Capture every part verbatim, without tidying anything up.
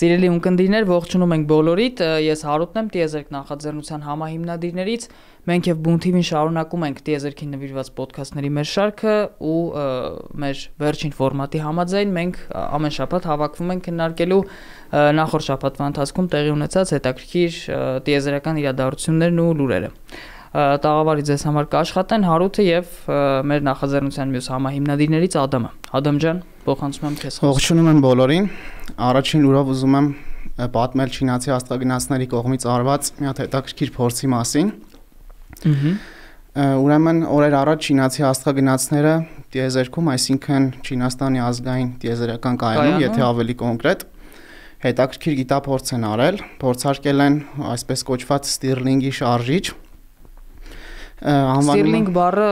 Սիրելի ունկնդիրներ, ողջունում ենք բոլորիդ, ես Հարութն եմ, Տիեզերք նախաձեռնության համահիմնադիրներից, մենք եւ Բուն թի վին շարունակում ենք Տիեզերքին նվիրված ոդքասթների մեր շարքը ու մեր վերջին ֆորմատի համաձայն մենք ամեն շաբաթ հավաքվում ենք քննարկելու նախորդ շաբաթվա ընթացքում տեղի ունեցած հետաքրքիր տիեզերական իրադարձություններն ու լուրերը։ Տաղավարի ձեզ համար կաշխատեն Հարութը եւ մեր նախաձեռնության մյուս համահիմնադիրներից Ադամը։ Ադամ ջան, փոխանցում եմ քեզ։ Ողջունում եմ բոլորին։ Առաջին լուրով ուզում եմ պատմել չինացի աստղագնացների կողմից արված մի հատ հետաքրքիր փորձի մասին։ Ուրեմն օրեր առաջ չինացի աստղագնացները տիեզերքում, այսինքն Չինաստանի ազգային տիեզերական կայանում, եթե ավելի կոնկրետ, հետաքրքիր գիտափորձ են արել, փորձարկել են այսպես կոչված Սթիրլինգի շարժիչ։ Սթիրլինգ բառը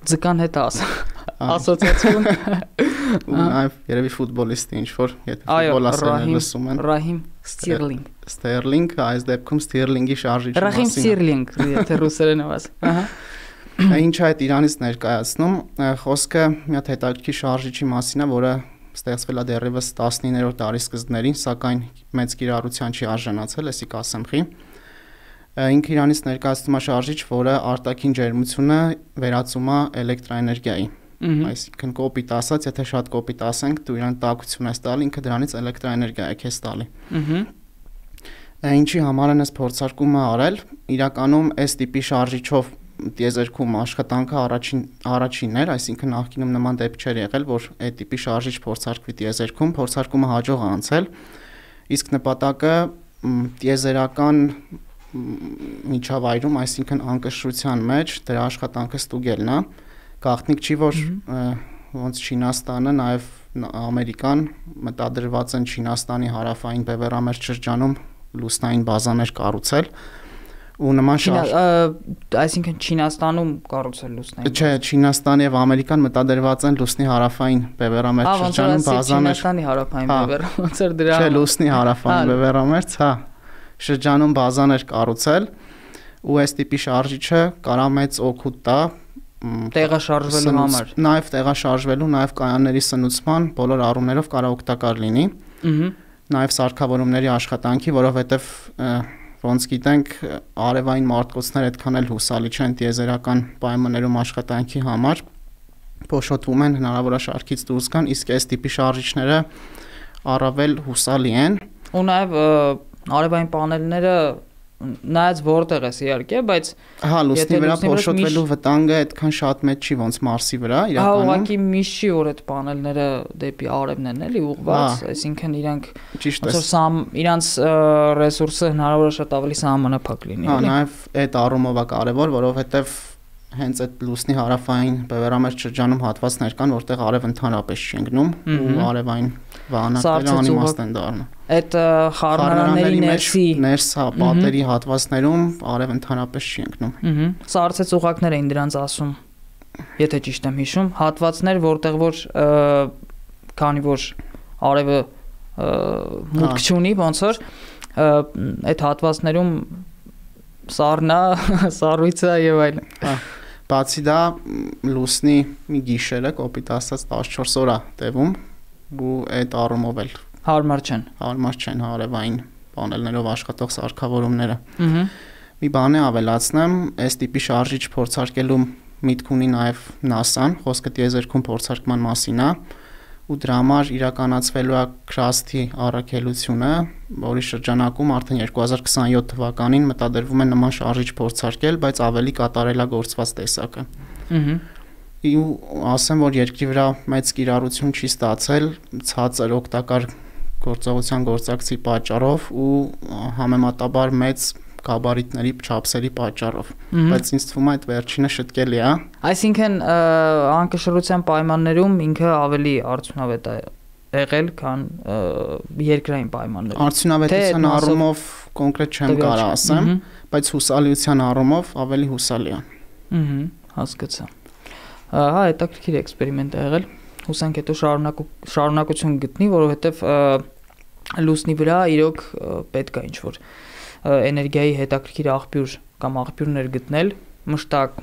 ձկան հետ աս ասոցիացիոն Այո, երևի ֆուտբոլիստի ինչ որ, եթե ֆուտբոլ ասել լսում են։ Ռահիմ Սթիրլինգ։ Սթերլինգ, այս դեպքում Սթիրլինգի շարժիչի մասին։ Ռահիմ Սթիրլինգ, եթե ռուսերենով աս։ Ահա։ Ինչ այդ Իրանից ներկայացնում, խոսքը մի հատ հետաքրքիր շարժիչի մասին է, որը ստեղծվել է դեռևս տասնիններորդ դարի սկզբներին, սակայն մեծ կիրառության չի արժանացել, էսի կասեմ խի։ Ինքը Իրանից ներկայացնում է շարժիչ, որը արտաքին ջերմությունը վերածում է էլեկտրաէներգիայի։ Այսինքն կոպիտ ասած, եթե շատ կոպիտ ասենք, դու իրան տաքություն ես տալի, ինքը դրանից էլեկտրաէներգիա է քեզ տալի։ Ինչի համար են այս փորձարկումը արել, իրականում այս տիպի շարժիչով տիեզերքում աշխատանքը առաջին առաջինն էր, այսինքն նախկինում նման դեպք չէր եղել, որ այդ տիպի շարժիչ փորձարկվի տիեզերքում, փորձարկումը հաջող է անցել, իսկ նպատակը տիեզերական միջավայրում, այսինքն անկշռության մեջ դրա աշխատանքը ստուգելն է, գաղտնիք չի, որ ոնց Չինաստանը, նաև Ամերիկան մտադրված են Չինաստանի հարավային բևեռամերձ շրջանում լուսնային բազաներ կառուցել ու նման շարժ այսինքն Չինաստանում կառուցել լուսնային Չէ, Չինաստանը եւ Ամերիկան մտադրված են լուսնի հարավային բևեռամերձ շրջանում բազաներ Չինաստանի հարավային բևեռամերձ էր դրա Չէ, լուսնի հարավային բևեռամերձ, հա շրջանում բազաներ կառուցել ու այս տիպի շարժիչը կարա մեծ օգուտ տա տեղաշարժվելու համար։ Նաև տեղաշարժվելու, նաև կայանների սնուցման բոլոր առումներով կարա օգտակար լինի։ Նաև սարքավորումների աշխատանքի, որովհետև ոնց գիտենք, արևային մարտկոցներ այդքան էլ հուսալի չեն տիեզերական պայմաններում աշխատանքի համար, փոշոտվում են, հնարավոր է շարքից դուրս գան, իսկ այս տիպի շարժիչները առավել հուսալի են։ Ու նաև արևային պանելները նայած որտեղ է իհարկե, բայց հա լուսնի վրա փոշոտվելու վտանգը այդքան շատ մեծ չի ոնց Մարսի վրա, իրականում։ Հա, ուղղակի միշտ չի որ այդ պանելները դեպի արևն են էլի ուղղված, այսինքն իրանք ոնց որ սամ իրանց ռեսուրսը հնարավոր է շատ ավելի սահմանափակ լինի, էլի։ Հա, նաև այդ առումով է կարևոր, որովհետև հենց այդ լուսնի հարավային բևեռամերձ շրջանում հատվածներ կան, որտեղ արև ընդհանրապես չի ընկնում ու արևային վահանակները անիմաստ են դառնում։ Այդ խառնարանների ներսի ներս պատերի հատվածներում արև ընդհանրապես չի ընկնում։ Սառցե ծուղակներ էին դրանց ասում, եթե ճիշտ եմ հիշում, հատվածներ, որտեղ որ քանի որ արևը մուտք չունի, ոնց որ այդ հատվածներում սառնա, սառույցը եւ այլն։ Բացի դա լուսնի մի գիշերը կոպիտ ասած տասնչորս օր է տևում ու այդ առումով էլ հարմար չեն։ Հարմար չեն արևային պանելներով աշխատող սարքավորումները։ Մի բան է ավելացնեմ, այս տիպի շարժիչ փորձարկելու միտք ունի նաև նասան, խոսքը տիեզերքում փորձարկման մասին է, ու դրա համար իրականացվելու է Քրասթի առաքելությունը, որի շրջանակում արդեն երկու հազար քսաներորդ թվականին մտադրվում է նման շարժիչ փորձարկել, բայց ավելի կատարելագործված տեսակը։ Ու ասեմ, որ երկրի վրա մեծ կիրառություն չի ստացել ցածր օգտակար գործողության գործակցի պատճառով ու համեմատաբար մեծ գաբարիտների չափսերի պատճառով, բայց ինձ թվում է այդ վերջինը շտկելի է։ Այսինքն անկշռության պայմաններում ինքը ավելի արդյունավետ է եղել, քան երկրային պայմաններում։ Արդյունավետության առումով կոնկրետ չեմ կարող ասեմ, բայց հուսալիության առումով ավելի հուսալի է։ Ահա, հասկացա։ Հա, հետաքրքիր էքսպերիմենտ է եղել։ Հուսանք հետո շարունակություն գտնի, որովհետև լուսնի վրա իրոք պետք է ինչ-որ էներգիայի հետաքրքիր աղբյուր կամ աղբյուրներ գտնել, մշտակ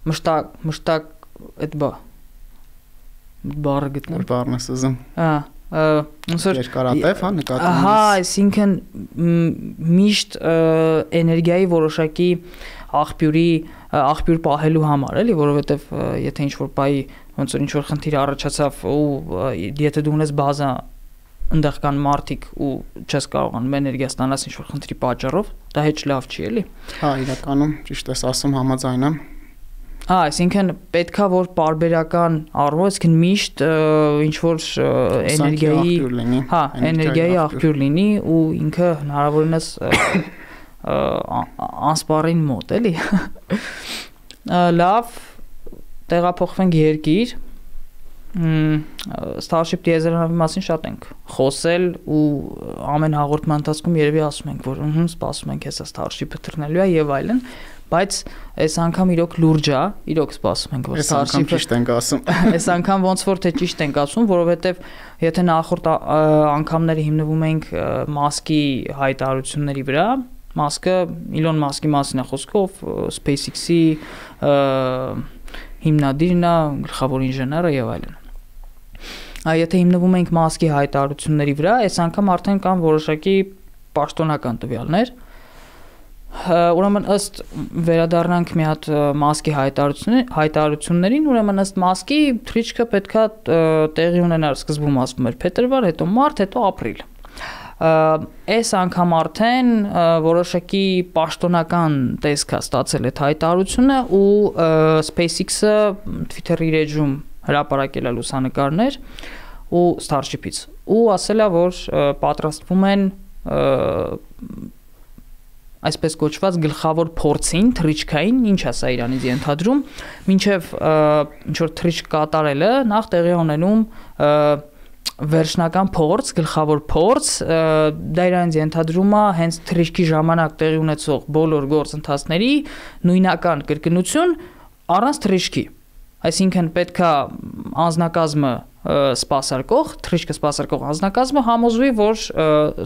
մշտակ մշտակ այդ բա բառը գտնել։ Բառն ես ուզում։ Հա, ոնց որ երկարատև, հա, նկատի ունես։ Ահա, այսինքն միշտ էներգիայի որոշակի աղբյուրի աղբյուր պահելու համար, էլի, որովհետև եթե ինչ-որ բայ ոնց որ ինչ-որ խնդիր առաջացավ ու եթե դու ունես բազա այնտեղ կան մարդիկ ու չես կարողանում էներգիա ստանալ ինչ-որ խնդրի պատճառով, դա հեչ լավ չի, էլի։ Հա, իրականում ճիշտ ես ասում, համաձայն եմ։ Հա, այսինքն պետքա որ պարբերական առումով, այսինքն միշտ ինչ որ էներգիայի, հա, էներգիայի աղբյուր լինի ու ինքը հնարավորինս անսպառին մոտ, էլի։ Լավ, տեղափոխվենք երկիր։ Starship տիեզերանավի մասին շատ ենք խոսել ու ամեն հաղորդման ընթացքում երևի ասում ենք, որ ըհը, սպասում ենք հեսա Starship-ը թռնելու է եւ այլն, բայց այս անգամ իրոք լուրջ է, իրոք սպասում ենք, որ Starship-ը ճիշտ ենք ասում։ Այս անգամ ոնց որ թե ճիշտ ենք ասում, որովհետեւ եթե նախորդ անգամները հիմնվում ենք Մասկի հայտարարությունների վրա, Մասկը Իլոն Մասկի մասին է խոսքը, ով SpaceX-ի հիմնադիրն է, գլխավոր ինժեները եւ այլն։ Եթե հիմնվում ենք Մասկի հայտարարությունների վրա, այս անգամ արդեն կան որոշակի պաշտոնական տվյալներ։ Ուրեմն ըստ վերադառնանք մի հատ Մասկի հայտարարություններին, ուրեմն ըստ Մասկի թռիչքը պետքա տեղի ունենար սկզբում ասվում էր փետրվար, հետո մարտ, հետո ապրիլ։ Այս անգամ արդեն որոշակի պաշտոնական տեսք է ստացել այդ հայտարարությունը ու SpaceX-ը Twitter-ի էջում հրապարակել է լուսանկարներ ու Starship-ից ու ասել է, որ պատրաստվում են այսպես կոչված գլխավոր փորձին թռիչքային, ինչ է սա Իրանից ենթադրում, մինչև ինչ որ թռիչք կատարելը նախ տեղի ունենում վերջնական փորձ, գլխավոր փորձ, դա իրանց ենթադրում է հենց թռիչքի ժամանակ տեղի ունեցող բոլոր գործընթացների նույնական կրկնություն առանց թռիչքի։ Այսինքն պետքա անձնակազմը սպասարկող, թռիչքը սպասարկող անձնակազմը համոզվի, որ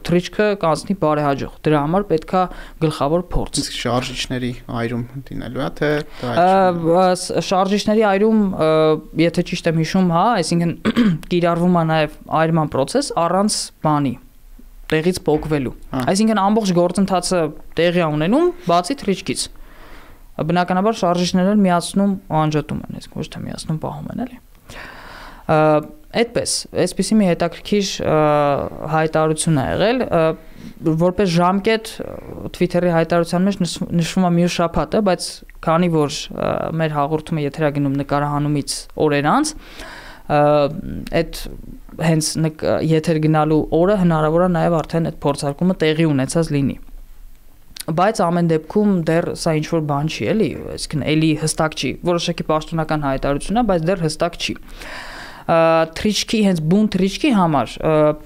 թռիչքը կանցնի բարեհաջող։ Դրա համար պետքա գլխավոր փորձ։ Իսկ շարժիչների այրում դինելու է, թե շարժիչների այրում, եթե ճիշտ եմ հիշում, հա, այսինքն կիրառվում է նաև այրման process առանց բանի, տեղից փոխվելու։ Այսինքն ամբողջ գործընթացը տեղի է ունենում բացի թռիչքից։ Բնականաբար շարժիչները միացնում ու անջատում են, իսկ ոչ թե միացնում պահում են, էլի։ Այդպես, այսպեսի մի հետաքրքիր հայտարարություն է եղել, որպես ժամկետ Twitter-ի հայտարարության մեջ նշվում է մյուս շաբաթը, բայց քանի որ մեր հաղորդումը եթերագնում նկարահանումից օրեր անց, այդ հենց եթեր գնալու օրը հնարավոր է նաև արդեն այդ փորձարկումը տեղի ունեցած լինի։ Բայց ամեն դեպքում դեռ սա ինչ որ բան չի, էլի, այսինքն էլի հստակ չի, որոշակի պաշտոնական հայտարարություն է, բայց դեռ հստակ չի։ Թռիչքի, հենց բուն թռիչքի համար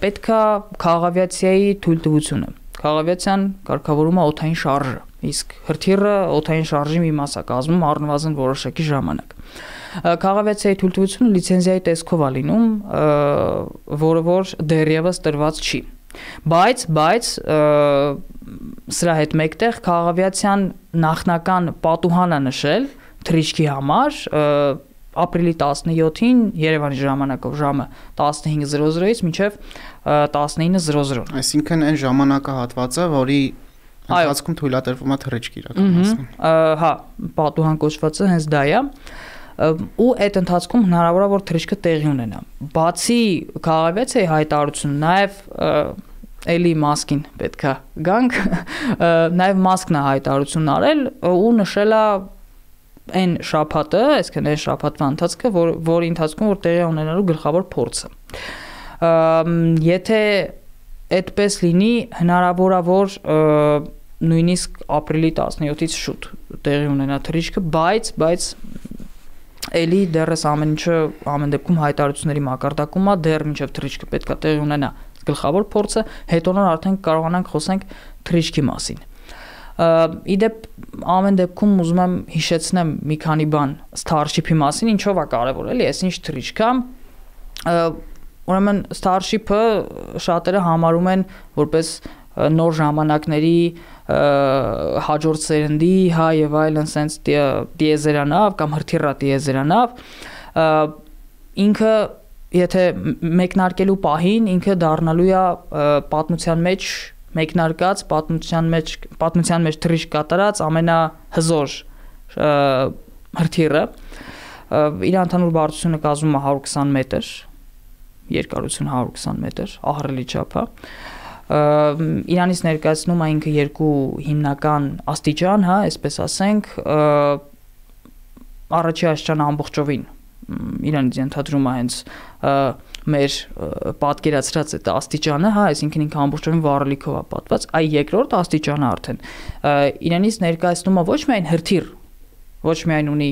պետքա քաղավիացիայի թույլտվությունը։ Քաղավիացիան կարգավորում է օդային շարժը, իսկ հրթիռը օդային շարժի մի մաս է կազմում առնվազն որոշակի ժամանակ։ Քաղավիացիայի թույլտվությունը լիցենզիայի տեսքով է լինում, որը որ դեռևս տրված չի։ Բայց, բայց սրա հետ մեկտեղ քաղավիացիան նախնական պատուհան է նշել թռիչքի համար ապրիլի տասնյոթին Երևանի ժամանակով ժամը տասնհինգ զրո զրոից մինչև տասնինը զրո զրո։ Այսինքն այն ժամանակահատվածը, որի ընթացքում թույլատրվում է թռիչք իրականացնել։ Հա, պատուհան կոչվածը հենց դա է։ Ու այդ ընթացքում հնարավոր է որ թռիչքը տեղի ունենա։ Բացի քաղավիացիայի հայտարարություն, նաև էլի Մասկին պետքա գանք, նաև Մասկն է հայտարարություն արել ու նշել է այն շաբաթը, այսինքն այն շաբաթվա ընթացքը, որ որի ընթացքում որ տեղի ունենալու գլխավոր փորձը։ Եթե այդպես լինի, հնարավոր է որ նույնիսկ ապրիլի տասնյոթից շուտ տեղի ունենա թռիչքը, բայց բայց էլի դեռս ամեն ինչը ամեն դեպքում հայտարարությունների մակարդակում է, դեռ մինչև թռիչքը պետքա տեղի ունենա գլխավոր փորձը, հետո նոր արդեն կարողանանք խոսենք թռիչքի մասին։ Իդեպ ամեն դեպքում ուզում եմ հիշեցնեմ մի քանի բան Starship-ի մասին, ինչով է կարևոր, էլի, այս ինչ թռիչք է։ Ուրեմն Starship-ը շատերը համարում են որպես նոր ժամանակների հաջորդ սերնդի, հա եւ այլն sense տիեզերանավ կամ հրթիռա տիեզերանավ, ինքը եթե մեկնարկելու պահին ինքը դառնալու է պատմության մեջ մեկնարկած, պատմության մեջ պատմության մեջ թռիչք կատարած ամենահզոր հրթիռը, իր ընդհանուր բարձրությունը կազմում է հարյուր քսան մետր, երկարությունը հարյուր քսան մետր, ահռելի չափ է։ Իրանից ներկայացնում է ինքը երկու հիմնական աստիճան, հա, այսպես ասենք, առաջի աստիճանը ամբողջովին Իրանից ենթադրում է հենց մեր պատկերացրած այդ աստիճանը, հա, այսինքն ինքը ամբողջովին վառելիքով է պատված, այ երկրորդ աստիճանը արդեն Իրանից ներկայացնում է ոչ միայն հրթիռ, ոչ միայն ունի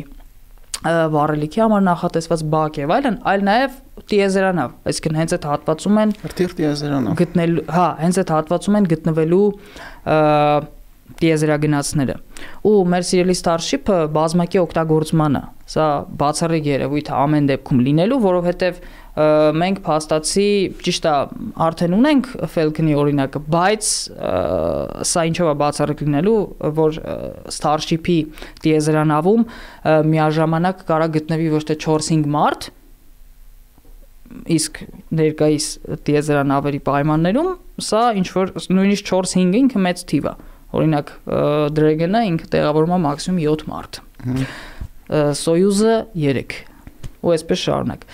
վառելիքի համար նախատեսված բակ եւ այլն, այլ նաեւ տիեզերանավ, այսինքն հենց այդ հատվածում են հրթիռ տիեզերանավ գտնելու, հա, հենց այդ հատվածում են գտնվելու տիեզերագնացները։ Ու մեր սիրելի Starship-ը բազմակի օգտագործմանը, սա բացառիկ երևույթ է ամեն դեպքում լինելու, որովհետեւ մենք փաստացի ճիշտ է արդեն ունենք Falcon-ի օրինակը, բայց սա ինչով է բացառիկ լինելու, որ Starship-ի տիեզերանավում միաժամանակ կարա գտնվի ոչ թե չորս-հինգ մարդ, իսկ ներկայիս տիեզերանավերի պայմաններում սա ինչ որ նույնիսկ չորս-հինգը ինքը մեծ թիվ է։ Օրինակ Dragon-ը ինքը տեղավորում է մաքսիմում յոթ մարդ։ Soyuz-ը երեք։ Ու այսպես շարունակ։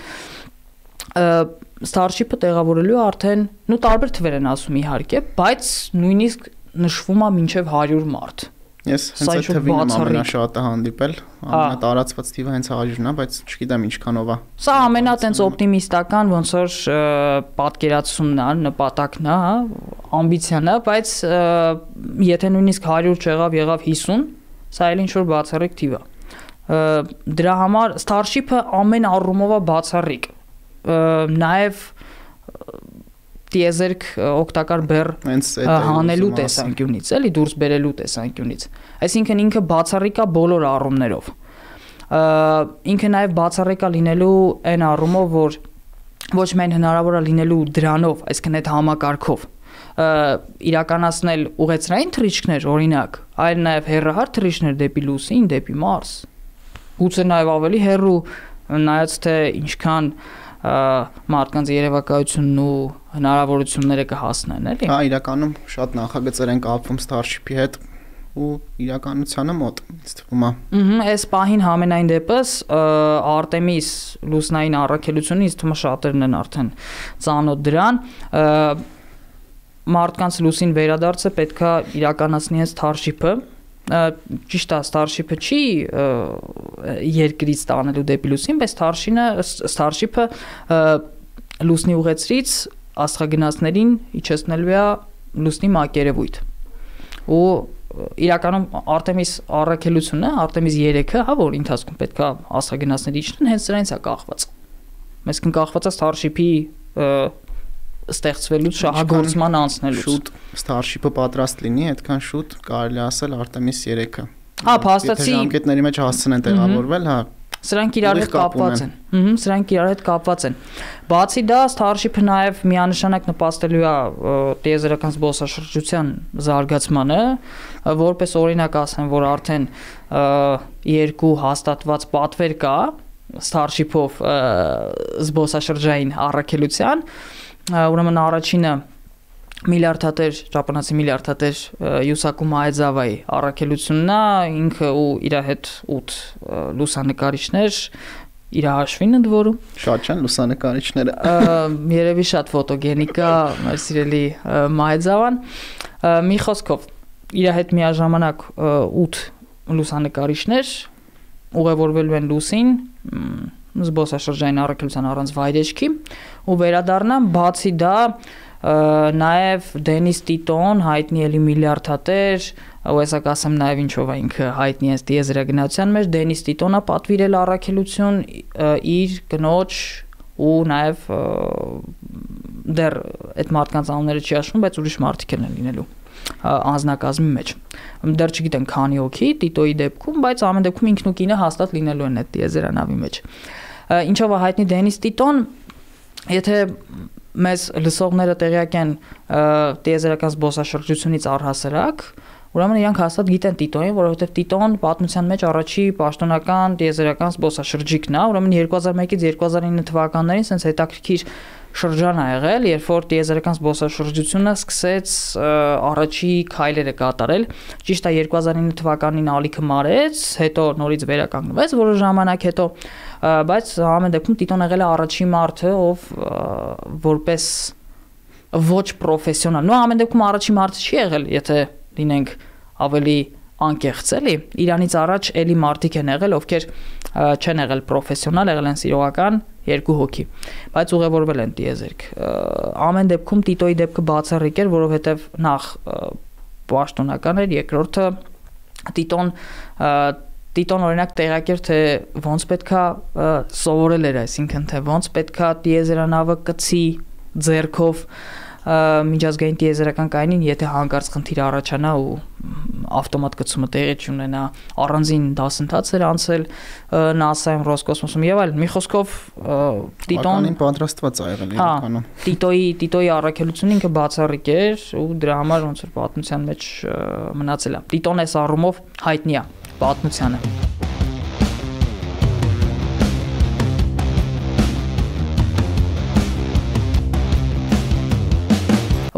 Starship-ը տեղավորելու արդեն, նու տարբեր թվեր են ասում իհարկե, բայց նույնիսկ նշվում է մինչև հարյուր մարդ։ Ես հենց այդ թվին եմ ամենաշատը հանդիպել, ամենատարածված թիվը հենց հարյուրն է, բայց չգիտեմ ինչքանով է։ Սա ամենատենց օպտիմիստական ոնց որ պատկերացումն է, նպատակն է, ամբիցիան է, բայց եթե նույնիսկ հարյուր չեղավ, եղավ հիսուն, սա էլ ինչ որ բացառիկ թիվ է։ Դրա համար Starship-ը ամեն առումով է բացառիկ։ Նաև տիեզերք օգտակար բեռ հանելու տեսանկյունից, էլի դուրս բերելու տեսանկյունից։ Այսինքն ինքը բացառիկ է բոլոր առումներով։ Ինքը նաև բացառիկ է լինելու այն առումով, որ ոչ միայն հնարավոր է լինելու դրանով, այսինքն այդ համակարգով իրականացնել ուղեցրային թռիչքներ, օրինակ, այլ նաև հեռահար թռիչքներ դեպի լուսին, դեպի Մարս։ Գուցե նաև ավելի հեռու, նայած թե ինչքան մարդկանց երևակայությունն ու հնարավորությունները կհասնեն, էլի։ Հա, իրականում շատ նախագծեր են կապվում Starship-ի հետ ու իրականությանը մոտ, ինձ թվում է։ Ըհը, այս պահին համենայն դեպս Artemis լուսնային առաքելությունը ինձ թվում է շատերն են արդեն ծանոթ դրան, մարդկանց լուսին վերադարձը պետքա իրականացնի հենց Starship-ը։ Ճիշտ է, Starship-ը չի երկրից տանելու դեպի լուսին, բայց Starship-ը լուսնի ուղեցրից աստղագնացներին իջեցնելու է լուսնի մակերևույթ։ Ու իրականում Artemis առաքելությունը, Artemis երեքը, հա, որ ընթացքում պետք է աստղագնացների իջնեն, հենց սրանից է կախված։ Այսինքն կախված է Starship-ի ստեղծվելուց շահագործման անցնելուց։ Շուտ Starship-ը պատրաստ լինի, այդքան շուտ կարելի ասել Artemis երեքը։ Հա, փաստացի ժամկետների մեջ հասցնեն տեղավորվել, հա։ Սրանք իրար հետ կապված են։ Ահա, սրանք իրար հետ կապված են։ Բացի դա, Starship-ը նաև միանշանակ նպաստելու է տիեզերական զբոսաշրջության զարգացմանը, որպես օրինակ ասեմ, որ արդեն երկու հաստատված պատվեր կա Starship-ով զբոսաշրջային առաքելության, ուրեմն առաջինը միլիարդատեր, ճապոնացի միլիարդատեր Յուսակու Մաեձավայի առաքելությունն է, ինքը ու իր հետ ութ լուսանկարիչներ իր հաշվին ընդ որում։ Շատ չեն լուսանկարիչները։ Երևի շատ ֆոտոգենիկ է մեր սիրելի Մաեձավան։ Մի խոսքով իր հետ միաժամանակ ութ լուսանկարիչներ ուղևորվելու են լուսին զբոսաշրջային առաքելության առանց վայրեջքի ու վերադառնան, բացի դա նաև Դենիս Տիտոն, հայտնի էլի միլիարդատեր, ու հեսա կասեմ նաև ինչով է ինքը հայտնի է տիեզերագնացության մեջ, Դենիս Տիտոնը պատվիրել առաքելություն իր կնոջ ու նաև դեռ այդ մարդկանց անունները չի հաշվում, բայց ուրիշ մարդիկ են լինելու անձնակազմի մեջ։ Դեռ չգիտեն քանի հոգի Տիտոյի դեպքում, բայց ամեն դեպքում ինքն ու կինը հաստատ լինելու են այդ տիեզերանավի մեջ։ Ինչով է հայտնի Դենիս Տիտոն, եթե մեզ լսողները տեղյակ են տիեզերական զբոսաշրջությունից առհասարակ, Ուրեմն իրանք հաստատ գիտեն Տիտոին, որովհետև Տիտոն պատմության մեջ առաջի պաշտոնական տիեզերական զբոսաշրջիկն է, ուրեմն երկու հազար մեկից երկու հազար ինը թվականներին sense հետաքրքիր շրջան ա եղել, երբ որ տիեզերական զբոսաշրջությունը սկսեց առաջի քայլերը կատարել։ Ճիշտ է երկու հազար ինը թվականին ալիքը մարեց, հետո նորից վերականգնվեց որոշ ժամանակ հետո, բայց ամեն դեպքում Տիտոն եղել է առաջի մարդը, ով որպես ոչ պրոֆեսիոնալ, նո ամեն դեպքում առաջի մարդը չի եղել, եթե լինենք ավելի անկեղծ էլի, իրանից առաջ էլի մարդիկ են եղել, ովքեր չեն եղել պրոֆեսիոնալ, եղել են սիրողական երկու հոգի, բայց ուղևորվել են տիեզերք։ Ամեն դեպքում Տիտոյի դեպքը բացառիկ էր, որովհետև նախ պաշտոնական էր, երկրորդը Տիտոն Տիտոն օրինակ տեղյակ էր, թե ոնց պետքա սովորել էր, այսինքն թե ոնց պետքա տիեզերանավը կցի ձեռքով միջազգային տիեզերական կայանին, եթե հանկարծ խնդիր առաջանա ու ավտոմատ գծումը տեղի չունենա, առանձին դասընթաց էր անցել NASA-ում, Ռոսկոսմոսում եւ այլն։ Մի խոսքով Տիտոն պատրաստված ա եղել իրականում։ Տիտոյի Տիտոյի առաքելությունը ինքը բացառիկ էր ու դրա համար ոնց որ պատմության մեջ մնացել է։ Տիտոն էս առումով հայտնի է պատմությանը։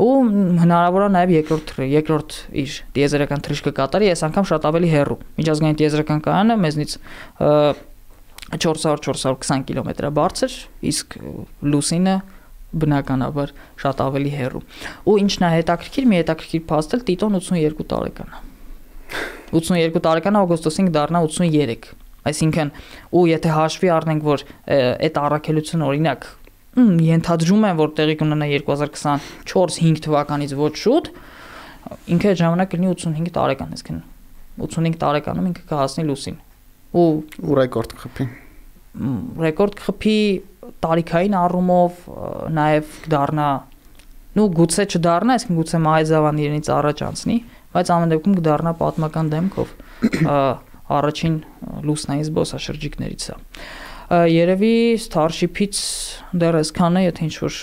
Ու հնարավոր է նաև երկրորդ երկրորդ իր տիեզերական թռիչքը կատարի, այս անգամ շատ ավելի հեռու։ Միջազգային տիեզերական կայանը մեզնից չորս հարյուր չորս հարյուր քսան կիլոմետր է բարձր, իսկ լուսինը բնականաբար շատ ավելի հեռու։ Ու ինչն է հետաքրքիր, մի հետաքրքիր փաստ էլ Տիտոն ութսունյերկու տարեկան է։ ութսունյերկու տարեկան օգոստոսին դառնա ութսունյերեք։ Այսինքն, ու եթե հաշվի առնենք, որ այդ առաքելությունը օրինակ ենթադրում են, որ տեղի կունենա երկու հազար քսանչորս հինգ թվականից ոչ շուտ, ինքը այդ ժամանակ կլինի ութսունհինգ տարեկան, այսինքն ութսունհինգ տարեկանում ինքը կհասնի լուսին։ Ու ու ռեկորդ կխփի։ Ռեկորդ կխփի տարիքային առումով, նաև կդառնա, նու գուցե չդառնա, այսինքն գուցե Մահեզավան իրենից առաջ անցնի, բայց ամեն դեպքում կդառնա պատմական դեմքով առաջին լուսնային զբոսաշրջիկներից է։ Երևի Starship-ից դեռ այսքան է, եթե ինչ-որ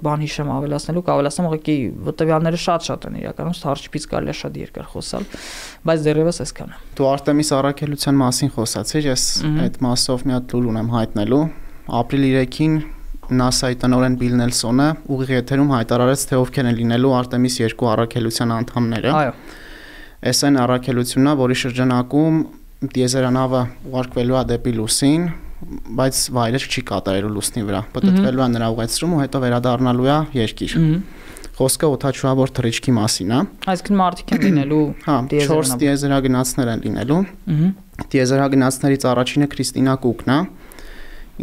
բան հիշեմ ավելացնելու, կավելացնեմ, ուղղակի տվյալները շատ-շատ են իրականում, Starship-ից կարելի է շատ երկար խոսալ, բայց դեռևս այսքան է։ Դու Արտեմիս առաքելության մասին խոսացիր, ես այդ մասով մի հատ լուր ունեմ հայտնելու։ Ապրիլի երեքին NASA-ի տնօրեն Բիլ Նելսոնը ուղիղ եթերում հայտարարեց, թե ովքեր են լինելու Արտեմիս երկու առաքելության անդամները։ Այո։ Այս այն առաքելությունն է, որի շրջանակում տիեզերանավը ուղարկվելու է դեպի լուսին, բայց վայրեր չի կատարելու լուսնի վրա, պտտվելու է նրա ուղեցրում ու հետո վերադառնալու է երկիր։ Խոսքը օդաչուավոր թռիչքի մասին է։ Այսինքն մարդիկ են լինելու չորս տիեզերագնացներ են լինելու։ Տիեզերագնացներից առաջինը Քրիստինա Կուկն է։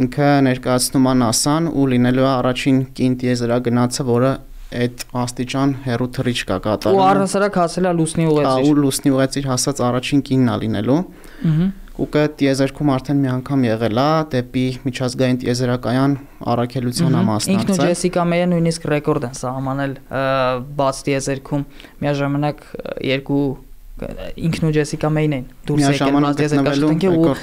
Ինքը ներկայացնում է NASA-ն ու լինելու է առաջին կին տիեզերագնացը, որը այդ աստիճան հեռու թռիչք է կատարում։ Ու առհասարակ հասել է լուսնի ուղեցիր։ Հա, ու լուսնի ուղեցիր հասած առաջին կինն է լինելու։ Կուկը տիեզերքում արդեն մի անգամ եղել է, դեպի միջազգային տիեզերակայան առաքելության է մասնակցել։ Ինքն ու Ջեսիկա Մեյը նույնիսկ ռեկորդ են սահմանել բաց տիեզերքում, միաժամանակ երկու ինքն ու Ջեսիկա Մեյն են դուրս եկել բաց տիեզերքաշրջանից ու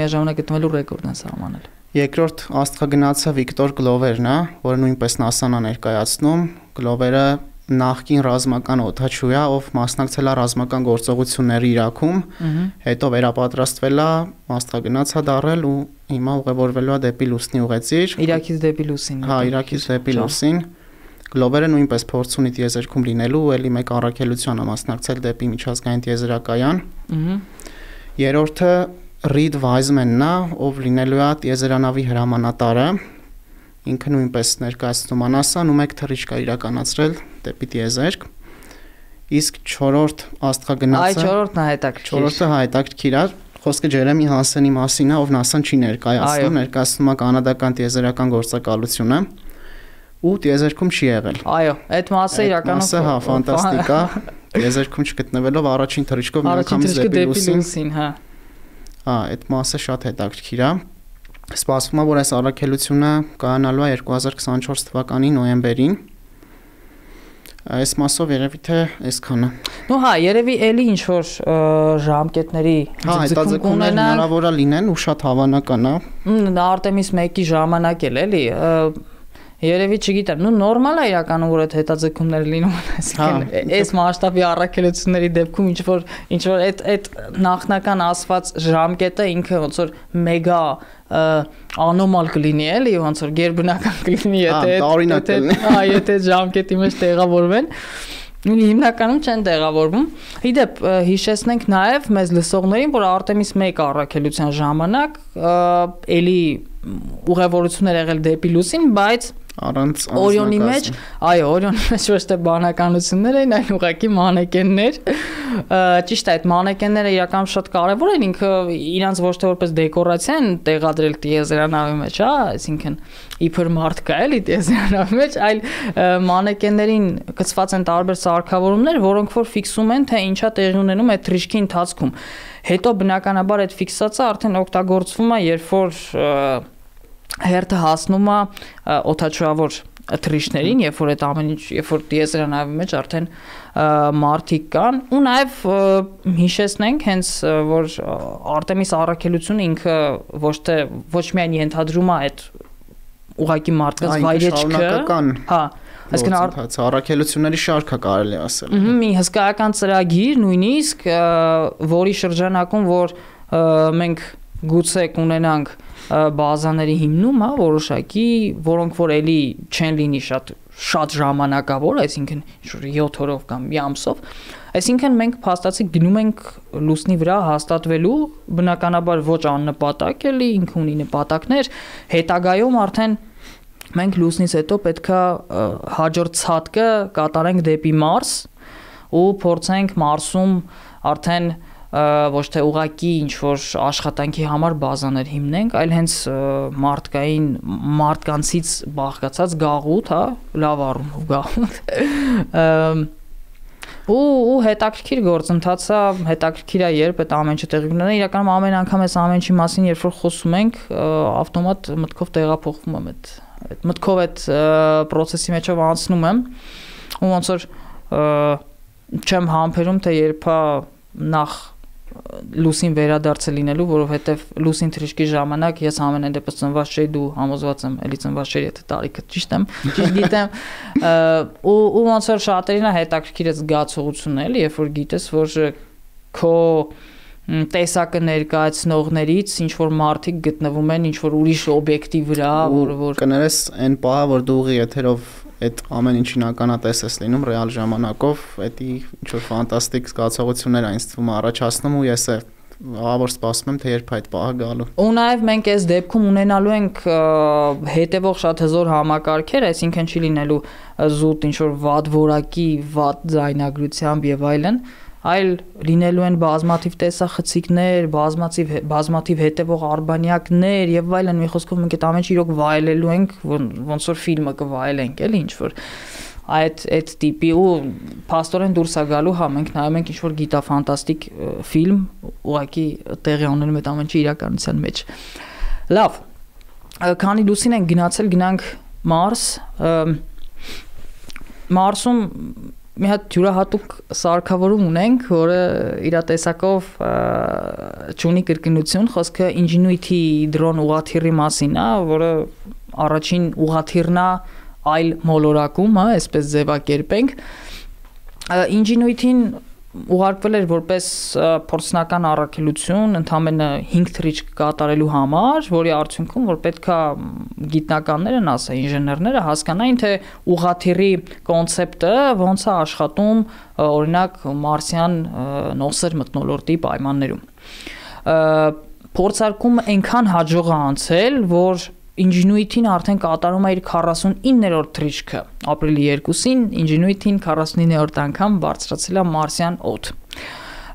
միաժամանակ գտնվելու ռեկորդ են սահմանել։ Երկրորդ աստղագնացը Վիկտոր Գլովերն է, որը նույնպես NASA-ն է ներկայացնում։ Գլովերը նախկին ռազմական օդաչու է, ով մասնակցել է ռազմական գործողությունների Իրաքում, հետո վերապատրաստվել է, աստղագնաց է դառել ու հիմա ուղևորվելու է դեպի լուսնի ուղեցիր։ Իրաքից դեպի լուսին։ Հա, Իրաքից դեպի լուսին։ Գլովերը նույնպես փորձ ունի տիեզերքում լինելու ու ելի մեկ առաքելության է մասնակցել դեպի միջազգային տիեզերակայան։ Երրորդը Ռիդ Վայզմենն է, ով լինելու է տիեզերանավի հրամանատարը։ Ինքը նույնպես ներկայացնում է NASA-ն ու մեկ թռիչք է իրականացրել դեպի տիեզերք։ Իսկ չորրորդ աստղագնացը Այ չորրորդն է հետաքրքիր։ Չորրորդը հետաքրքիր է։ Խոսքը Ջերեմի Հանսենի մասին է, ով NASA-ն չի ներկայացնում, ներկայացնում է կանադական տիեզերական գործակալությունը ու տիեզերքում չի եղել։ Այո, այդ մասը իրականում մասը հա ֆանտաստիկ է։ Տիեզերքում չգտնվելով առաջին թռիչքով միանգամից դեպի լուսին, հա։ Հա, այդ մասը շատ հետաքրքիր է։ Սպասվում է, որ այս առաքելությունը կայանալու է երկու հազար քսանչորս թվականի նոյեմբերին։ Այս մասով երևի թե այսքանը։ Ну հա, երևի էլի ինչ որ ժամկետների ձգձգում կունենան, հնարավոր է լինեն ու շատ հավանական է։ Արտեմիս մեկի ժամանակ էլ էլի Երևի չգիտեմ, նու նորմալ է իրականում որ այդ հետաձգումները լինում են, այսինքն այս մասշտաբի առաքելությունների դեպքում ինչ որ ինչ որ այդ այդ նախնական ասված ժամկետը ինքը ոնց որ մեգա անոմալ կլինի էլի, ոնց որ գերբնական կլինի, եթե հա, եթե ժամկետի մեջ տեղավորվեն հիմնականում չեն տեղավորվում։ Իդեպ հիշեցնենք նաև մեզ լսողներին, որ Արտեմիս մեկ առաքելության ժամանակ էլի ուղևորություններ եղել դեպի լուսին, բայց առանց Օրիոնի մեջ, այո, Օրիոնի մեջ ոչ թե բանականություններ էին, այլ ուղղակի մանեկեններ։ Ճիշտ է, այդ մանեկենները իրականում շատ կարևոր են, ինքը իրանց ոչ թե որպես դեկորացիա են տեղադրել տիեզերանավի մեջ, հա, այսինքն իբր մարդ կա էլի տիեզերանավի մեջ, այլ մանեկեններին գծված են տարբեր սարքավորումներ, որոնք որ ֆիքսում են, թե ինչա տեղի ունենում այդ թռիչքի ընթացքում։ Հետո բնականաբար այդ ֆիքսացը արդեն օգտագործվում է, երբ որ հերթը հասնում է օդաչուավոր թռիչքներին, երբ որ այդ ամեն ինչ, երբ որ տիեզերանավի մեջ արդեն մարդիկ կան, ու նաև հիշեցնենք հենց որ Արտեմիս առաքելությունը ինքը ոչ թե ոչ միայն ենթադրում է այդ ուղղակի մարդկանց վայրեջքը, հա, այսինքն առաքելությունների շարքը կարելի ասել։ Մի հսկայական ծրագիր նույնիսկ, որի շրջանակում որ մենք գուցե կունենանք բազաների հիմնում, հա, որոշակի, որոնք որ էլի չեն լինի շատ շատ ժամանակավոր, այսինքն ինչ-որ յոթ օրով կամ մի ամսով, այսինքն մենք փաստացի գնում ենք լուսնի վրա հաստատվելու, բնականաբար ոչ աննպատակ էլի, ինքը ունի նպատակներ, հետագայում արդեն մենք լուսնից հետո պետքա հաջորդ ցատկը կատարենք դեպի Մարս ու փորձենք Մարսում արդեն ոչ թե ուղակի ինչ որ աշխատանքի համար բազաներ հիմնենք, այլ հենց մարդկային մարդկանցից բաղկացած գաղութ, հա, լավ առում ու գաղութ։ Ու ու հետաքրքիր գործընթաց է, հետաքրքիր է երբ այդ ամեն ինչը տեղի ունենա, իրականում ամեն անգամ այս ամեն ինչի մասին երբ որ խոսում ենք, ավտոմատ մտքով տեղափոխվում եմ այդ այդ մտքով այդ process-ի մեջով անցնում եմ, ու ոնց որ չեմ համբերում, թե երբ նախ լուսին վերադարձը լինելու, որովհետև լուսին թռիչքի ժամանակ ես ամենայն դեպս ծնված չէի, դու համոզված եմ, էլի ծնված չէի, եթե տարիքը ճիշտ եմ, ճիշտ գիտեմ, ու ու ոնց որ շատերին է հետաքրքիր է զգացողությունն էլի, երբ որ գիտես, որ քո տեսակը ներկայացնողներից ինչ որ մարդիկ գտնվում են ինչ որ ուրիշ օբյեկտի վրա, որը որ կներես այն պահը, որ դու ուղի եթերով այդ ամեն ինչին ականատես ես լինում ռեալ ժամանակով, դա ինչ որ ֆանտաստիկ զգացողություններ է ինձ թվում առաջացնում ու ես ավոր սպասում եմ թե երբ այդ պահը գալու։ Ու նաև մենք այս դեպքում ունենալու ենք հետևող շատ հզոր համակարգեր, այսինքն չի լինելու զուտ ինչ որ վատ որակի, վատ ձայնագրությամբ եւ այլն, այլ լինելու են բազմաթիվ տեսախցիկներ, բազմաթիվ բազմաթիվ հետևող արբանյակներ եւ այլն, մի խոսքով մենք այդ ամեն ինչ իրոք վայելելու ենք, ոնց որ ֆիլմը կվայելենք, էլի ինչ որ այդ այդ տիպի ու փաստորեն դուրս է գալու, հա, մենք նայում ենք ինչ որ գիտաֆանտաստիկ ֆիլմ, ուղղակի տեղի ունենում այդ ամեն ինչը իրականության մեջ։ Լավ, քանի լուսին ենք գնացել, գնանք Մարս, Մարսում մի հատ յուրահատուկ սարքավորում ունենք, որը իր տեսակով չունի կրկնություն, խոսքը Ingenuity դրոն ուղղաթիռի մասին է, որը առաջին ուղղաթիռն է այլ մոլորակում, հա, այսպես ձևակերպենք։ Ingenuity-ն ուղարկվել էր որպես փորձնական առաքելություն ընդամենը հինգ թռիչք կատարելու համար, որի արդյունքում որ պետքա գիտնականները, ասա ինժեներները հասկանային, թե ուղղաթիռի կոնցեպտը ոնց է աշխատում, օրինակ մարսյան նոսր մթնոլորտի պայմաններում։ Փորձարկումը այնքան հաջող է անցել, որ Ingenuity-ն արդեն կատարում է իր քառասունիններորդ թռիչքը։ Ապրիլի երկուսին Ingenuity-ն քառասունիններորդ անգամ բարձրացել է մարսյան օդ։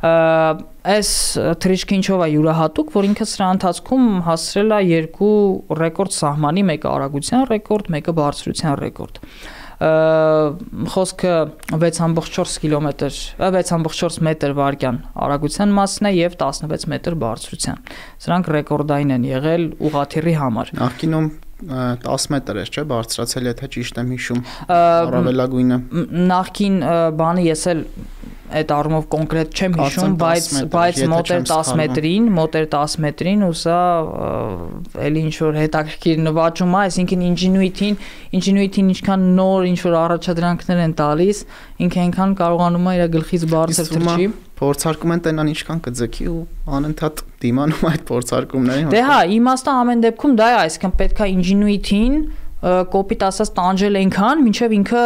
Այս թռիչքը ինչով է յուրահատուկ, որ ինքը սրա ընթացքում հասցրել է երկու ռեկորդ սահմանի, մեկը արագության ռեկորդ, մեկը բարձրության ռեկորդ։ Խոսքը վեց կόμμα չորս կիլոմետր, վեց կόμμα չորս մետր վարկյան արագության մասն է եւ տասնվեց մետր բարձրության։ Սրանք ռեկորդային են եղել ուղղաթիռի համար։ Նախկինում տասը մետր էր, չէ՞, բարձրացել, եթե ճիշտ եմ հիշում, առավելագույնը։ Նախկին բանը ես էլ այդ առումով կոնկրետ չեմ հիշում, բայց բայց մոտեր տասը մետրին, մոտեր տասը մետրին ու սա էլի ինչ որ հետաքրքիր նվաճում է, այսինքն Ingenuity-ին, Ingenuity-ին ինչքան նոր ինչ որ առաջադրանքներ են տալիս, ինքը այնքան կարողանում է իր գլխից բարձր թռչի։ Փորձարկում են տենան ինչքան կձգի ու անընդհատ դիմանում այդ փորձարկումներին։ Դե հա, իմաստը ամեն դեպքում դա է, այսինքն պետք է Ingenuity-ին կոպիտ ասած տանջել այնքան, մինչև ինքը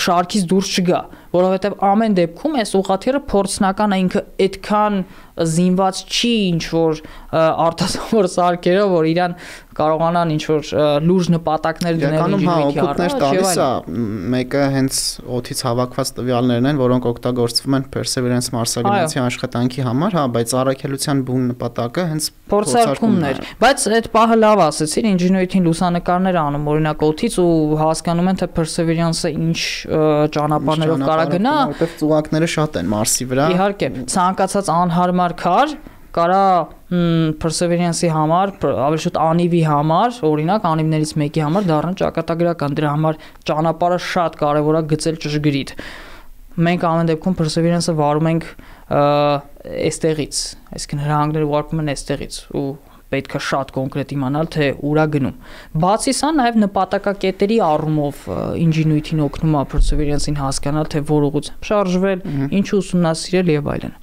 շարքից դուրս չգա, որովհետև ամեն դեպքում այս ուղղաթիռը փորձնական է, ինքը այդքան զինված չի ինչ որ արտասովոր սարքերով, որ իրան կարողանան ինչ որ լուրջ նպատակներ դնել Ingenuity-ի առաջ, տալիս է, մեկը հենց օդից հավաքված տվյալներն են, որոնք օգտագործվում են Perseverance մարսագրինցի աշխատանքի համար, հա, բայց առաքելության բուն նպատակը հենց փորձարկումն էր։ Բայց այդ պահը լավ ասեցին, Ingenuity-ին լուսանկարներ անում օրինակ օդից ու հասկանում են թե Perseverance-ը ինչ ճանապարհներով կարա գնա, որտեղ ծուղակները շատ են Մարսի վրա։ Իհարկե, ցանկացած անհարմար քար կարա Perseverance-ի համար, ավելի շուտ անիվի համար, օրինակ անիվներից մեկի համար դառնա ճակատագրական, դրա համար ճանապարհը շատ կարևոր է գծել ճշգրիտ։ Մենք ամեն դեպքում Perseverance-ը վարում ենք այստեղից, այսինքն հրահանգները ուղարկում են այստեղից ու պետք է շատ կոնկրետ իմանալ թե ուր է գնում։ Բացի սա, նաև նպատակակետերի առումով Ingenuity-ն օգնում է Perseverance-ին հասկանալ թե որ ուղղությամբ շարժվել, ինչ ուսումնասիրել եւ այլն։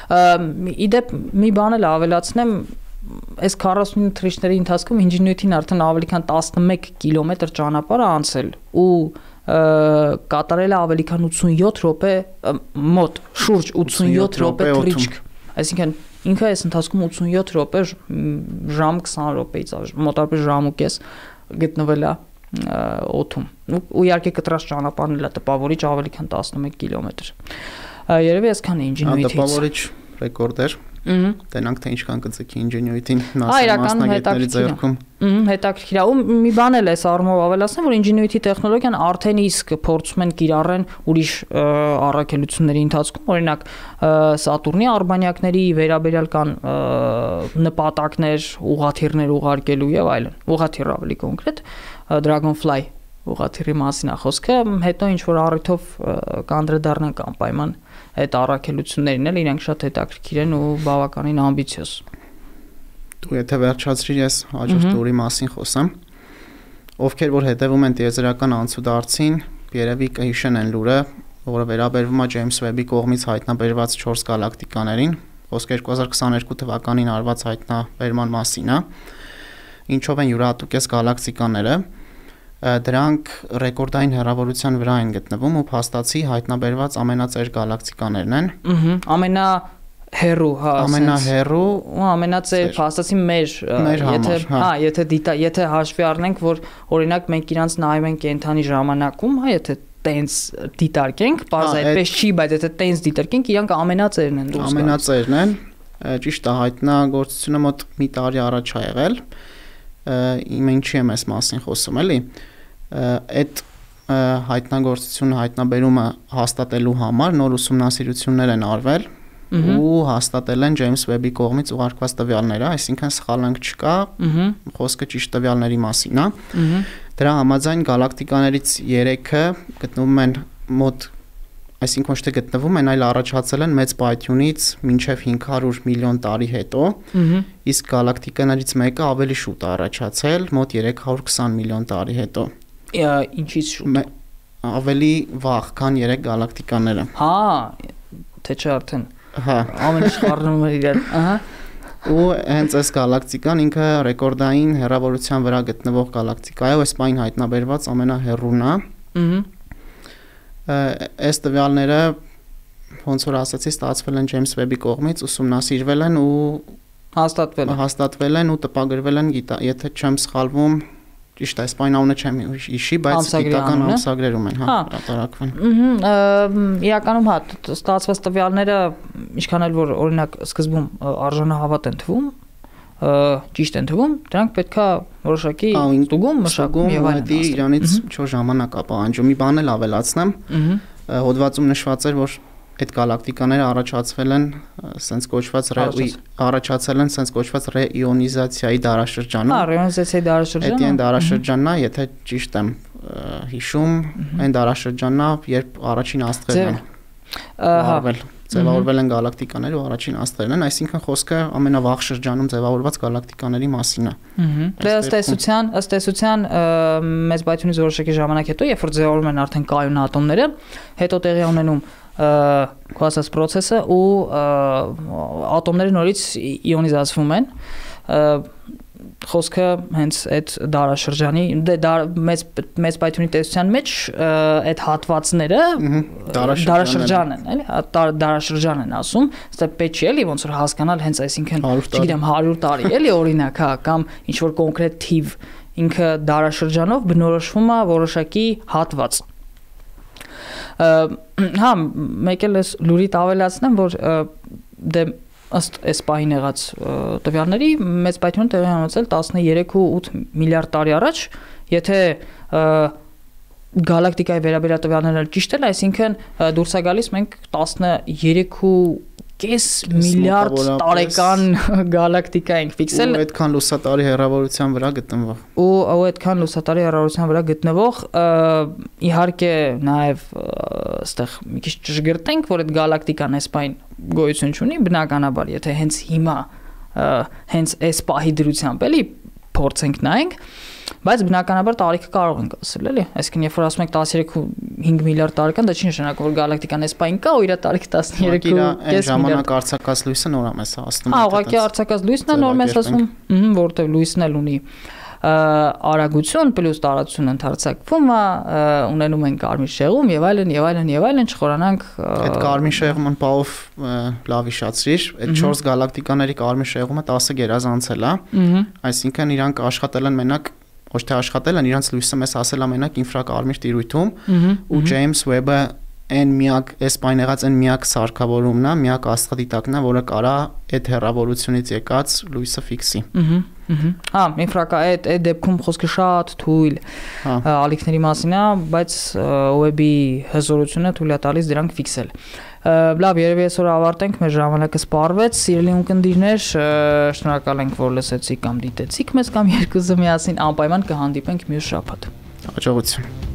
Իդեպ մի բան էլ ավելացնեմ, այս քառասուն թռիչքների ընթացքում Ingenuity-ն արդեն ավելի քան տասնմեկ կիլոմետր ճանապարհ է անցել ու կատարել է ավելի քան ութսունյոթ րոպե մոտ, շուրջ ութսունյոթ րոպե թռիչք, այսինքն ինքը այս ընթացքում ութսունյոթ րոպե ժամ քսան րոպեից մոտավորապես ժամ ու կես գտնվել է օդում։ Ու իհարկե կտրած ճանապարհն էլ է տպավորիչ ավելի քան տասնմեկ կիլոմետր։ Երևի այսքան է Ingenuity-ից։ Տպավորիչ ռեկորդ էր։ Տենանք թե ինչքան կձգի Ingenuity-ին մասնագետների ձեռքում։ Հետաքրքիր է։ Ու մի բան էլ է առումով ավելացնեմ, որ Ingenuity տեխնոլոգիան արդեն իսկ փորձում են կիրառեն ուրիշ առաքելությունների ընթացքում, օրինակ Սատուրնի արբանյակների վերաբերյալ կան նպատակներ, ուղղաթիռներ ուղարկելու եւ այլն։ Ուղղաթիռ ավելի կոնկրետ Dragonfly ուղղաթիռի մասին է խոսքը, հետո ինչ որ առիթով կանդրադառնանք անպայման այդ առաքելություններին էլ իրենք շատ հետաքրքիր են ու բավականին ամբիցիոզ։ Դու եթե վերջացրիր ես հաջորդ տուրի մասին խոսեմ, ովքեր որ հետևում են տիեզերական անցուդարձին, երևի կհիշեն են լուրը, որը վերաբերվում է Ջեյմս Վեբի կողմից հայտնաբերված չորս գալակտիկաներին, խոսքը երկու հազար քսաներկու թվականին արված հայտնաբերման մասին է, ինչով են յուրահատուկ գալակտիկաները, դրանք ռեկորդային հեռավորության վրա են գտնվում ու փաստացի հայտնաբերված ամենածեր գալակտիկաներն են։ Ամենա հեռու, հա, ամենահեռու ու ամենածեր փաստացի մեր, եթե, հա, եթե դիտա, եթե հաշվի առնենք, որ օրինակ մենք իրանց նայում ենք կենթանի ժամանակում, հա, եթե տենց դիտարկենք, բարձ այդպես չի, բայց եթե տենց դիտարկենք, իրանք ամենածերն են դուրս գալիս։ Ամենածերն են, ճիշտ է, հայտնագործությունը մոտ մի տարի առաջ է եղել։ Իմ ինչի եմ այս մասին խոսում, էլի։ Այդ հայտնագործությունը, հայտնաբերումը հաստատելու համար նոր ուսումնասիրություններ են արվել ու հաստատել են Ջեյմս Վեբի կողմից ուղարկված տվյալները, այսինքն սխալանք չկա, խոսքը ճիշտ տվյալների մասին է։ Դրա համաձայն գալակտիկաներից երեքը գտնվում են մոտ, այսինքն ոչ թե գտնվում են, այլ առաջացել են մեծ պայթյունից մինչև հինգ հարյուր միլիոն տարի հետո, իսկ գալակտիկաներից մեկը ավելի շուտ է առաջացել, մոտ երեք հարյուր քսան միլիոն տարի հետո։ Ինչից շուտ։ Ավելի վաղ, քան երեք գալակտիկաները։ Հա, թե չէ արդեն։ Հա, ամեն ինչ խառնում է իրար, ահա։ Ու հենց այս գալակտիկան ինքը ռեկորդային հեռավորության վրա գտնվող գալակտիկա է, այս պայն հայտնաբերված ամենահեռուն է։ Ահա։ Այս տվյալները ոնց որ ասացի, ստացվել են Ջեյմս Վեբի կողմից, ուսումնասիրվել են ու հաստատվել են։ Հաստատվել են ու տպագրվել են, եթե չեմ սխալվում, ճիշտ է, այս պայն անունը չեմ հիշի, բայց գիտական ամսագրերում են, հա, հրատարակվել։ Իրականում հա, ստացված տվյալները ինչքան էլ որ օրինակ սկզբում արժանահավատ են թվում, ճիշտ են թվում, դրանք պետքա որոշակի ստուգում, մշակում եւ այլն։ Իրանից ինչ-որ ժամանակ է պահանջում։ Մի բան էլ ավելացնեմ, հոդվածում նշված էր, որ այդ գալակտիկաները առաջացվել են սենց կոչված առաջացել են սենց կոչված ռեիոնիզացիայի դարաշրջանում։ Հա, ռեիոնիզացիայի դարաշրջանը։ Այդ այն դարաշրջանն է, եթե ճիշտ եմ հիշում, այն դարաշրջանն է, երբ առաջին աստղերն են արվել, ձևավորվել են գալակտիկաները ու առաջին աստղերն են, այսինքն խոսքը ամենավաղ շրջանում ձևավորված գալակտիկաների մասին է։ Դե ըստ էության, ըստ էության մեծ բայթյունից որոշակի ժամանակ հետո, երբ որ ձևավորվում են արդեն կայուն ատոմները, հետո տեղի ունենում քո ասած process-ը ու ատոմները նորից իոնիզացվում են, խոսքը հենց այդ դարաշրջանի դե մեծ մեծ բայթյունի տեսության մեջ այդ հատվածները դարաշրջան են, էլի, դարաշրջան են ասում, այստեղ պետք չի էլի ոնց որ հասկանալ հենց այսինքն, չգիտեմ, հարյուր տարի, էլի օրինակ, հա, կամ ինչ որ կոնկրետ թիվ, ինքը դարաշրջանով բնորոշվում է որոշակի հատված։ Հա, մեկ էլ էս լուրի ավելացնեմ, որ դե ըստ այս պահին եղած տվյալների մեծ բայթյուն տեղի ունեցել տասներեք ու ութ միլիարդ տարի առաջ, եթե գալակտիկայի վերաբերյալ տվյալները ճիշտ են, այսինքն դուրս է գալիս մենք տասներեք ու կես միլիարդ տարեկան գալակտիկա ենք ֆիքսել։ Ու այդքան լուսատարի հեռավորության վրա գտնվող։ Ու այդքան լուսատարի հեռավորության վրա գտնվող, իհարկե նաև այստեղ մի քիչ ճշգրտենք, որ այդ գալակտիկան այս պահին գոյություն չունի, բնականաբար, եթե հենց հիմա հենց այս պահի դրությամբ էլի փորձենք նայենք, բայց բնականաբար տարիքը կարող ենք ասել, էլի, այսինքն երբ որ ասում ենք տասներեք ու հինգ միլիարդ տարեկան, դա չի նշանակում որ գալակտիկան այս պահին կա ու իր տարիքը տասներեք ու կես ժամանակ արձակած լույսը նոր է մեզ հասնում։ Հա, ուղղակի արձակած լույսն է նոր մեզ ասում, որտեղ լույսն էլ ունի արագություն պլյուս տարածություն ընդարձակվում է, ունենում են կարմիր շեղում եւ այլն եւ այլն եւ այլն, չխորանանք այդ կարմիր շեղումը պահով լավ հիշացրիր, այդ չորս գալակտիկաների կարմիր շեղումը տասը գերազանցել է, այսինքն իրանք աշխատել են մենակ ոչ թե աշխատել են, իրանք լույսը մեզ ասել է մենակ ինֆրակարմիր տիրույթում ու Ջեյմս Ուեբը այն միակ այս պայն եղած այն միակ սարքավորումն է, միակ աստղադիտակն է, որը կարա այդ հեռավորությունից եկած լույսը ֆիքսի։ Հա, ինֆրակա այդ այդ դեպքում խոսքը շատ թույլ ալիքների մասին է, բայց Ուեբի հզորությունը թույլ է տալիս դրանք ֆիքսել։ Լավ, երևի այսօր ավարտենք, մեր ժամանակը սպառվեց, սիրելի ունկնդիրներ, շնորհակալ ենք, որ լսեցիք կամ դիտեցիք մեզ կամ երկուզը միասին, անպայման կհանդիպենք մյուս շաբաթ։ Հաջողություն։